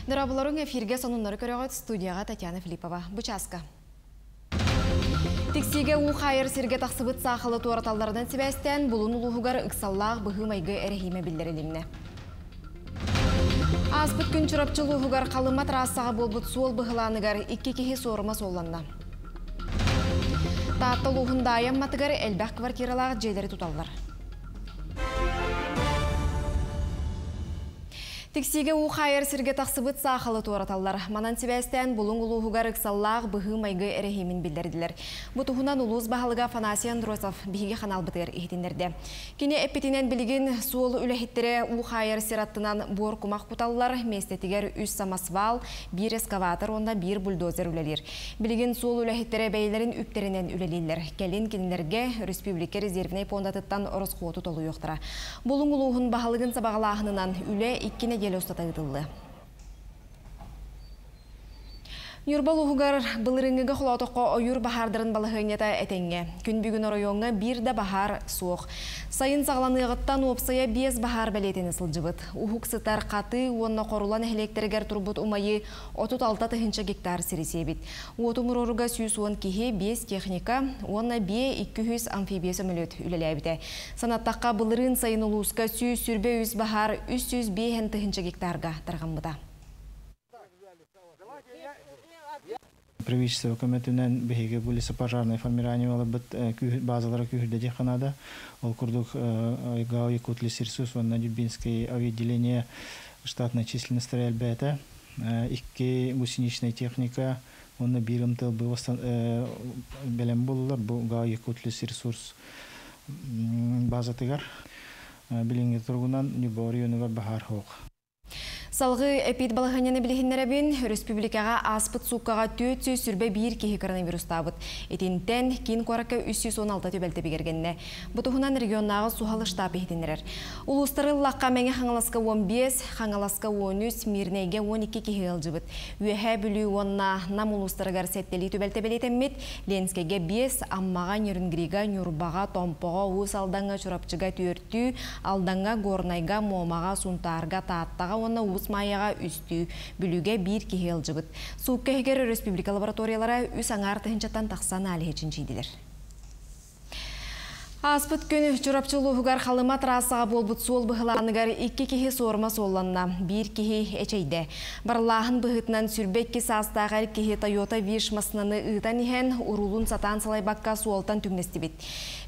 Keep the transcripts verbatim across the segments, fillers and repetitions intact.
Дорооболоруҥ, эфиргэ сонуннары көрөҕүт, студияҕа Татьяна Филиппова. Бу чааска. Тиксиигэ уу хаайар сиргэ тахсыбыт саахалы туораталларынан сибээстээн Булуҥ улууһугар ыксаллаах быһыы-майгы эрэһиимэ биллэрилиннэ. Ааспыт күн Чурапчы улууһугар Халыма трассаҕа буолбут суол быһылааныгар икки киһи суорума суолланна. Таатта улууһун Даайа Амматыгар элбэх квартиралаах дьиэлэри туталлар. Тиксиигэ уу хаайар сиргэ тахсыбыт саахалы туораталлар. Манан сибээстээн Булуҥ улууһугар ыксаллаах быһыы-майгы эрэһиимин биллэрдилэр. Бу туһунан улуус баһылыга Афанасий Андросов биһиги ханаалбытыгар иһитиннэрдэ. Кини эппитинэн билигин суол үлэһиттэрэ уу хаайар сир аттынан буор кумах куталлар, миэстэтигэр үс самосвал, биир эскаватор уонна биир бульдозер үлэлиир. Билигин суол үлэһиттэрэ бэйэлэрин үптэринэн үлэлииллэр. Кэлин кинилэргэ республика резервнэй пуондатыттан ороскуоту толуйуохтара. Булуҥ улууһун баһылыгын сабаҕалааһынынан үлэ икки нэдиэлэ устата ыытыллыа. Ньурба улууһугар былырыыҥҥыга холоотоххо ойуур баһаардарын балаһыанньата этэҥҥэ. Күн бүгүн оройуоҥҥа биир да баһаар суох. Сайын саҕаланыаҕыттан уопсайа биэс баһаар бэлиэтэнэ сылдьыбыт. Уһук сытар Хатыы уонна Хорула нэһилиэктэригэр турбут умайыы отут алта тыһыынча гектар сири сиэбит. Уоту умуруоруга сүүс уон киһи, биэс техника уонна биэ икки сүүс амфибия сөмөлүөт үлэлээбитэ. Санаттахха, былырыын сайын улууска сүүс сүүрбэ үс баһаар үс сүүс биэс тыһыынча гектарга тарҕаммыта. Правительство көмөтүнэн биһиги бу лесопожарное формирование алабыт базалара күүһүрдэ диэххэ наада. Ол курдук ГАО Якутлесресурс уонна Нюрбинское авиаотделение штатной численностара элбээтэ. Икки гусеничная техника уонна биир МТЛБ бэлэм буоллулар бу ГАО Якутлесресурс базатыгар. Билиҥҥи туругунан Ньурба оройуонугар баһаар суох. Салгыы эпид балаһыанньаны билиһиннэрэбин, республикаҕа ааспыт сууккаҕа түөрт сүүс сүүрбэ биир киһи коронавирустаабыт. Итинтэн киин куоракка үс сүүс уон алта түбэлтэ бигэргэннэ. Бу туһунан регионнааҕы суһал штаб иһитиннэрэр. Улуустары ыллахха Мэҥэ Хаҥаласка уон биэс, Хаҥаласка уон үс, Мирнэйгэ уон икки киһи ыалдьыбыт. Үөһээ Бүлүү уонна Нам улуустарыгар сэттэлии түбэлтэ бэлиэтэммит. Ленскэйгэ биэс, Аммаҕа, Нерюнгрига, Ньурбаҕа, Томпоҕо, Уус Алдаҥҥа, Чурапчыга түөртүү, Алдаҥҥа, Горнайга, Муомаҕа, Сунтаарга, Тааттаҕа уонна Уус Майаҕа үстүү, Бүлүүгэ биир киһи ыалдьыбыт. Суукка иһигэр республика лабораториялара үс аҥаар тыһыынчаттан тахса аналиһы чинчийдилэр. Ааспыт күн Чурапчы улууһугар Халыма трассаҕа буолбут суол быһылааныгар икки киһи суорума суолланна, биир киһи эчэйдэ. Барыллааһын быһыытынан сүүрбэ икки саастаах эр киһи Toyota Wish массыынаны ыытан иһэн уруулун сатаан салайбакка суолтан түҥнэстибит.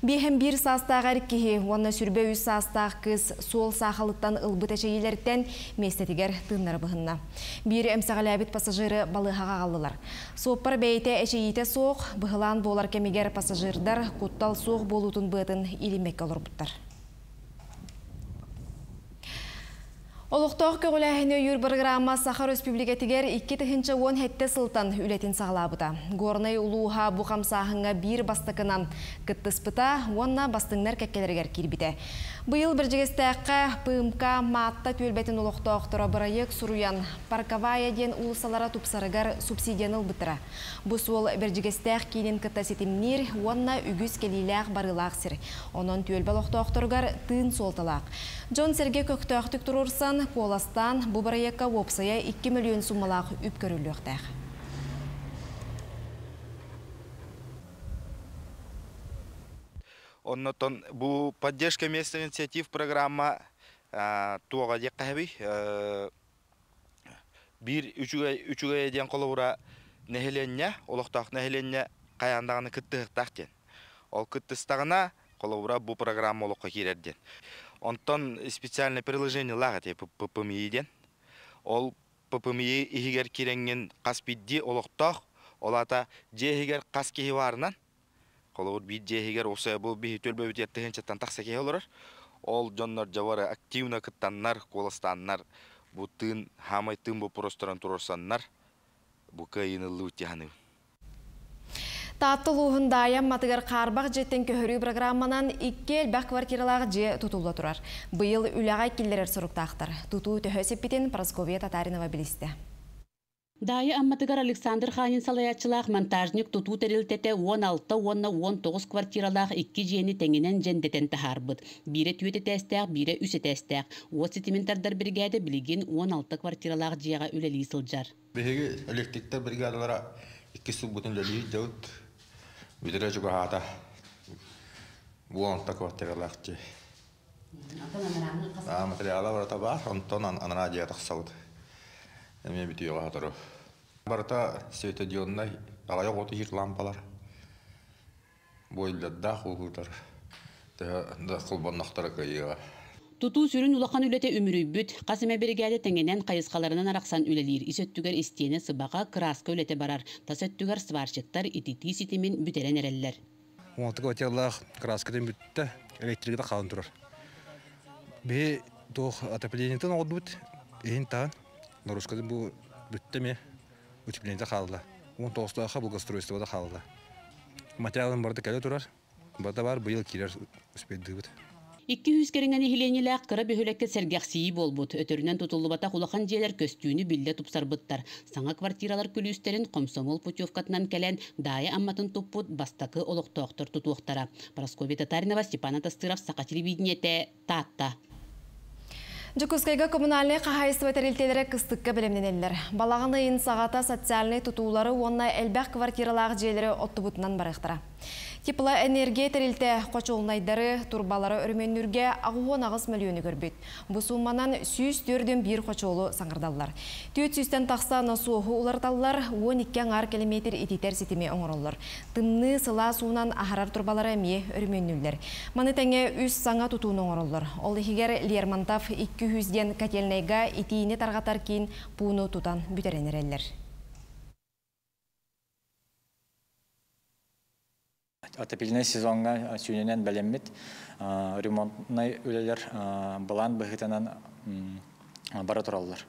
Биэһэн биир саастаах эр киһи уонна сүүрбэ үс саастаах кыыс суол саахалыттан ылбыт эчэйиилэртэн миэстэтигэр тыыннара быһынна. Биир эмсэҕэлээбит пассажиры балыыһаҕа аҕаллылар. Суоппар бэйэтэ эчэйиитэ суох, быһылаан буолар кэмигэр пассажирдар куттал суох буолуутун быатын илиммэккэ олорбуттар. Олохтоох көҕүлээһини өйүүр бырагыраама Саха Өрөспүүбүлүкэтигэр икки тыһыынча уон сэттэ сылтан үлэтин саҕалаабыта. Горнай улууһа бу хамсааһыҥҥа биир бастакынан кыттыспыта уонна бастыҥнар кэккэлэригэр киирбитэ. Быйыл Бэрдьигэстээххэ П М К Маатта түөлбэтин олохтоохторо бырайыак суруйан Парковая диэн уулуссалара тупсарыгар субсидияны ылбыттара. Бу суол Бэрдьигэстээх киинин кытта ситимниир уонна үгүс кэлиилээх барыылаах сир. Онон түөлбэ олохтоохторугар тыын суолталаах. Дьон-сэргэ көхтөөхтүк туруорсан, куоластаан бу бырайыакка уопсайа икки мөлүйүөн суммалаах үп көрүллүөхтээх. Оннотон бу поддержка местных инициатив программа туоҕа диэххэ сөбүй, биир үчүгэй үчүгэй диэн холобура нэһилиэнньэ, олохтоох нэһилиэнньэ хайаан даҕаны кыттыһыктаах диэн. Ол кыттыстаҕына холобура бу программа олоххо киирэр диэн. Онтон специальное приложение лаах эти П П М И диэн. Ол П П М И иһигэр киирэҥҥин хас биирдии олохтоох, ол аата дьиэ иһигэр хас киһи баарынан, холобур биир дьиэ иһигэр уопсайа бу биһи түөлбэбитигэр тыһыынчаттан тахса киһи олорор. Ол дьоннор дьабары активно кыттаннар, куоластааннар, бу тыын, хаамай тыын боппуруостарын туруорсаннар, бу кыайыыны ыллыбыт дии саныыбын. Таатта улууһун Даайа Амматыгар хаарбах дьиэттэн көһөрүү программанан икки элбэх квартиралаах дьиэ тутулла турар. Быйыл үлэҕэ киллэрэр соруктаахтар. Тутуу төһө сиппитин Прасковья Татаринова билистэ. Даайа Амматыгар Александр Ханин салайааччылаах монтажник тутуу тэрилтэтэ уон алта уонна уон тоҕус квартиралаах икки дьиэни тэҥинэн дьэндэтэн таһаарбыт. Биирэ түөрт этээстээх, биирэ үс этээстээх. Уот ситимин тардар биригээдэ билигин уон алта квартиралаах дьиэҕэ үлэлии сылдьар. Биһиги электриктэр бригадалара икки сылбытын үлэлии дьабыт. Бүтэрэ чугаһаата. уон алта квартиралаах дьиэ. Материала барыта баар, онтон анараа дьиэ тахсабыт. Эмиэ бүтүөҕэ сотору. Барыта светодиоднай, аҕыйах уоту иһир лампалар, бойлердаах ууһутар, төһө да холбоннохторо кыайыаҕа. Тутуу сүрүн улахан үлэтэ үмүрүйбүт, хас эмэ биригээдэ тэҥинэн хайысхаларынан арахсан үлэлиир. Ис өттүгэр истиэнэ сыбаҕа, кырааска үлэтэ барар. Тас өттүгэр сварщиктар ититии ситимин бүтэрэн эрэллэр. он алты квартиралаах краскатын бүттэ, электриката хаалан турар. Биһи туох отоплениетын оҕордубут, иһин таһын, нагрузкатын бу бүттэ эмиэ, утеплениета хаалла. он тоҕустаахха благоустройствода хаалла. Материалын барыта кэлэ турар, барыта бар быйыл киирэр успейдыыбыт. Икки сүүс кэриҥэ нэһилиэнньэлээх кыра бөһүөлэккэ сэргэхсийии буолбут. Өтөрүнэн тутуллубатах улахан дьиэлэр көстүүнү биллэ тупсарбыттар. Саҥа квартиралар күлүүстэрин Комсомол путевкатынан кэлэн Даайа Амматын туппут бастакы олохтоохтор тутуохтара. Парасковья Татаринова, Степан Атастыров, Саха телевидениетэ, Таатта. Дьокуускайга коммунальнай хаһаайыстыба тэрилтэлэрэ кыстыкка бэлэмнэнэллэр. Балаҕан ыйын саҕата социальнай тутуулары уонна элбэх квартиралаах дьиэлэри оттубутунан барыахтара. Теплоэнергия тэрилтэ хочуолунайдары, турбалары өрөмүөннүүргэ аҕыс уон аҕыс мөлүйүөнү көрбүт. Бу суумманан сүүс түөрт биир хочуолу саҥардаллар. Түөрт сүүстэн тахса носуоһу уларыталлар, уон икки аҥаар километр ититэр ситими оҥороллор. Тымныы сылаас уунан аһарар турбалары эмиэ өрөмүөннүүллэр. Маны тэҥэ үс саҥа тутууну оҥороллор. Ол иһигэр Лермонтов икки сүүс диэн котельнайга итиини тарҕатар киин пууну тутан бүтэрэн эрэллэр. Отопительный сезоҥҥа сүүнүнэн бэлэммит, ремонтнай үлэлэр былаан быһыытынан бара тураллар.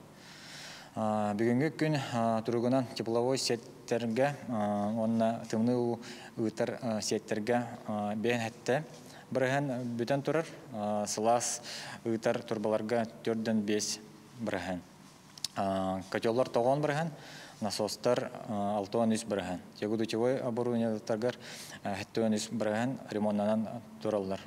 Бүгүҥҥү күн туругунан тепловой сеттэргэ уонна тымныы уу ыытар сеттэргэ биэс сэттэ бырыһыан бүтэн турар, сылаас ыытар турбаларга түөрт биэс бырыһыан. Котеллар тоҕус бырыһыан, насостар алта уон үс бырыһыан. Тягодутевой оборудованиеларгар сэттэ уон үс бырыһыан ремоннанан тураллар.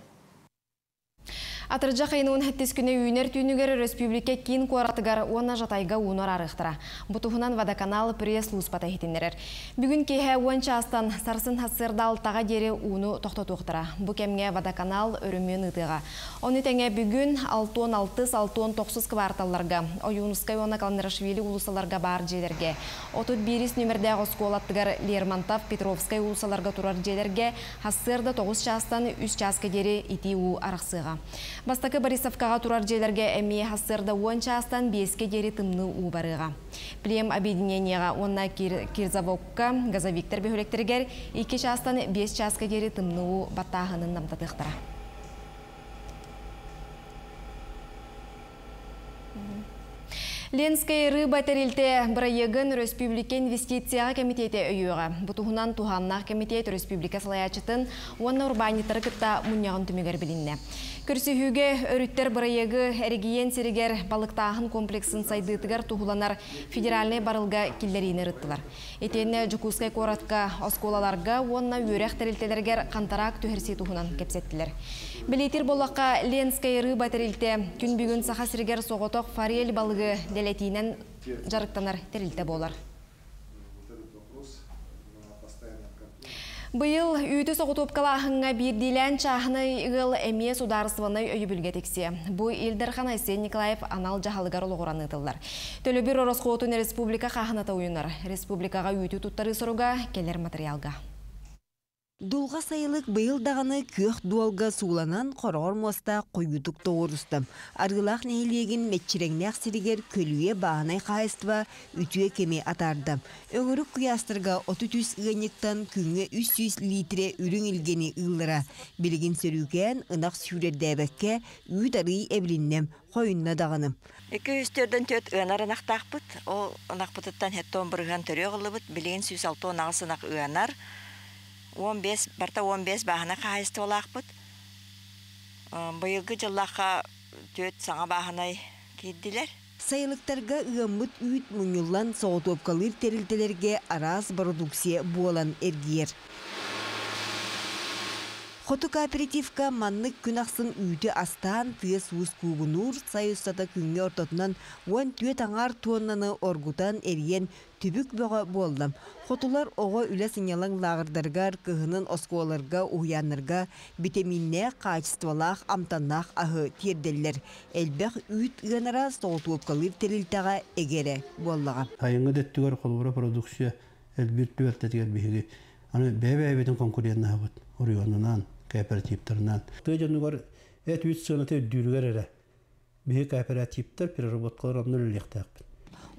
Атырдьах ыйын сэттис күнэ үүнэр түүнүгэр республика киин куоратыгар уонна Жатайга ууну араарыахтара. Бу туһунан водоканал пресс-службата иһитиннэрэр. Бүгүн киэһэ уон чаастан сарсын сарсыарда алтаҕа диэри ууну тохтотуохтара. Бу кэмҥэ водоканал өрөмүөн ыытыаҕа. Ону тэҥэ бүгүн алта уон алта алта уон тоҕус кварталларга, Ойуунускай уонна Каландарашвили уулуссаларга баар дьиэлэргэ, отут биирис нүмердээх оскуолаттыгар Лермонтов, Петровскай уулуссаларга турар дьиэлэргэ сарсыарда тоҕус чаастан үс чааска диэри итии уу арахсыаҕа. Бастакы Борисовкаҕа турар дьиэлэргэ эмиэ сарсыарда уон чаастан биэскэ диэри тымныы уу барыаҕа. Плем объединениеҕа уонна Кирзавокка газовиктар бөһүөлэктэригэр икки чаастан биэс чааска диэри тымныы уу баттааһынын намтатыахтара. Ленскэй рыба тэрилтэ бырайыагын Республика инвестицияҕа кэмитиэтэ өйүөҕэ. Бу туһунан туһааннаах кэмитиэт республика салайааччытын уонна урбаанньыттары кытта мунньаҕын түмүгэр билиннэ. Көрсүһүүгэ өрүттэр бырайыагы эрэгийиэн сиригэр балыктааһын комплексын сайдыытыгар туһуланар федеральнай барылга киллэриини ырыттылар. Итиэннэ Дьокуускай куоратка, оскуолаларга уонна үөрэх тэрилтэлэригэр хантараак түһэрсии туһунан кэпсэттилэр. Бэлиэтиир буоллахха, Ленскэй рыба тэрилтэ күн бүгүн Саха сиригэр соҕотох форель балыгы дэлэтиинэн дьарыктанар тэрилтэ буолар. Быйыл үүтү соҕотуопкалааһыҥҥа биирдиилээн чааһынай ыал эмиэ судаарыстыбаннай өйөбүлгэ тиксиэ. Бу Ил Дархан Айсен Николаев анал дьаһалыгар олоҕуран ыытыллар. Төлөбүр ороскуотун республика хааһыната уйунар. Республикаҕа үүтү туттарыы соруга кэлэр материалга. Дулҕа сайылык быйыл даҕаны күөх дуолга сууланан хороҕор муостаах хойуутук тоҕуоруста. Арыылаах нэһилиэгин мэччирэҥнээх сиригэр көлүйэ бааһынай хаһаайыстыба үтүө кэми атаарда. Өҥүрүк куйаастарга отут үс ыанньыктан күҥҥэ үс сүүс литрэ үрүҥ илгэни ыыллара. Билигин сөрүүкээн ынах сүүрэрдээбэккэ үүт арыы эбилиннэ, хойунна даҕаны. Икки сүүс түөртэн түөрт ыанар ынахтаахпыт. Ол ынахпытыттан сэттэ уон бырыһыан төрүөх ыллыбыт. Билигин сүүс алта уон аҕыс ынах ыанар. он бэс, барта он бэс бааһынай хаһаайыстыбалаахпыт. Быйылгы дьыллаахха түөрт саҥа бааһынай киирдилэр. Сайылыктарга ыаммыт үүт мунньуллан соҕотуопкалыыр тэрилтэлэргэ араас бородууксуйа буолан эргийэр. Хоту кооперативка маннык күн ахсын үүтү астаан тыас-уус куугунуур, сай устата күҥҥэ ортотунан уон түөрт аҥаар туоннаны оргутан эрийэн түбүк бөҕө буолла. Хотулар оҕо үлэ сынньалаҥ лааҕырдарыгар, кыһынын оскуолаларга, уһуйааннарга битэмииннээх, хаачыстыбалаах, амтаннаах аһы тиэрдэллэр. Элбэх үүт ыанара соҕотуопкалыыр тэрилтэҕэ эгэ эрэ буоллаҕа. Сайыҥҥы да өттүгэр холобура продукция элбиир түбэлтэтигэр биһиги аны бэйэ-бэйэбитин конкуреннаһабыт оройуонунан, кооперативтарынан. Тыа дьонугар эт үүт сыаната үрдүүрүгэр эрэ биһиги кооперативтар переработкалар онно үлэлиэхтээхпит.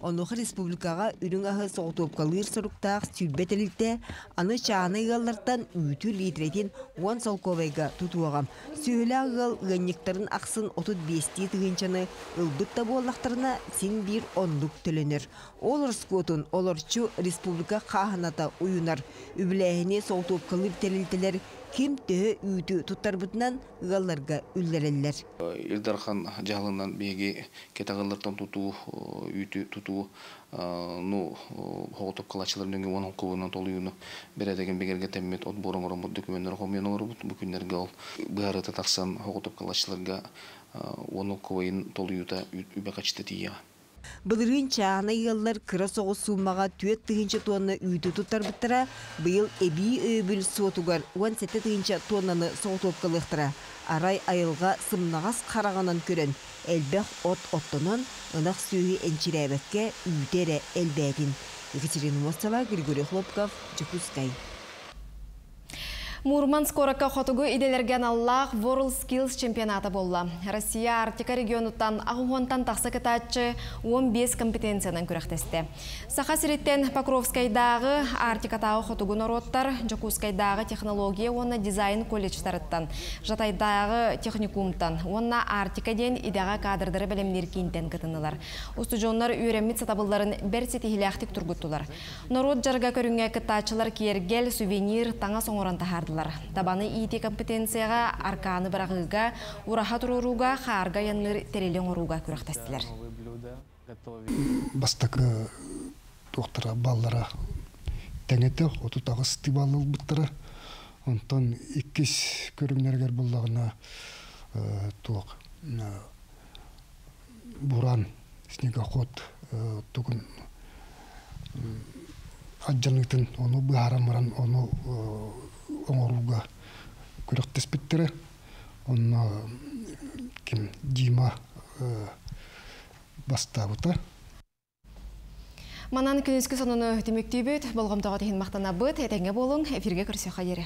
Онуоха республикаҕа үрүҥ аһы соҕотуопкалыыр соруктаах сүүрбэ тэрилтэ аны чааһынай ыаллартан үүтү литрэтин уон солкуобайга тутуоҕа. Сүөһүлээх ыал ыанньыктарын ахсын отут биэстии тыһыынчаны ылбыт да буоллахтарына син биир оннук төлөнөр. Ол ороскуотун олорчу республика хааһыната уйунар. Үбүлээһини соҕотуопкалыыр тэрилтэлэр ким төһө үүтү туттарбытынан ыалларга үллэрэллэр. Ил Дархан дьаһалынан биһиги кэтэх ыаллартан тутуу, үүтү тутуу, ну, соҕотуопкалааччылар нөҥүө уон холкуобунан толуйууну бэрээдэгин бигэргэтэммит отбор оҥороммут докумуоннары хомуйан олоробут. Бу күннэргэ ол быһаарыыта тахсан соҕотуопкалааччыларга уон холкуобайын толуйуута үбэ харчыта тиийиэҕэ. Былырыын чааһынай ыаллар кыра соҕус сууммаҕа түөрт тыһыынча туонна үүтү туттарбыттара, быйыл эбии өйөбүл суотугар уон сэттэ тыһыынча туоннаны соҕотуопкалыахтара. Арай айылҕа сымнаҕас хараҕынан көрөн, элбэх от оттонон, ынах сүөһү энчирээбэккэ үүтэ эрэ элбээтин. Екатерина Мостова, Григорий Хлопков, Дьокуускай. Мурманск куоракка хотугу идэлэргэ аналлаах World Skills чемпионата буолла. Россия Арктика регионуттан аҕыс уонтан тахса кыттааччы уон биэс компетенциянан күрэхтэстэ. Саха сириттэн Покровскайдааҕы, Арктикатааҕы хотугу норуоттар, Дьокуускайдааҕы технология уонна дизайн колледжтарыттан, Жатайдааҕы техникумтан уонна Арктика диэн идэҕэ кадрдары бэлэмниир киинтэн кытыннылар. Устудьуоннар үөрэммит сатабылларын бэрт ситиһиилээхтик тургуттулар. Норуот дьарыга көрүҥҥэ кыттааччылар киэргэл, сувенир, таҥас оҥорон таһаардылар. Табаны иитии компетенцияҕа, аркааны быраҕыыга, ураһа туруорууга, хаарга айанныыр тэрили оҥорууга күрэхтэстилэр. Бастакы туохтара баллара тэҥ этэ, отут аҕыс балл ылбыттара. Онтон иккис көрүҥнэригэр буоллаҕына туох буран, снегоход тугун алдьаныытын ону быһааран баран ону оҥорууга күрэхтэспиттэрэ. Онно ким Дима бастаабыта. Манан күнүскү сонуну түмүктүүбүт, болҕомтоҕут иһин махтанабыт, этэҥҥэ буолуҥ, эфиргэ көрсүөххэ диэри.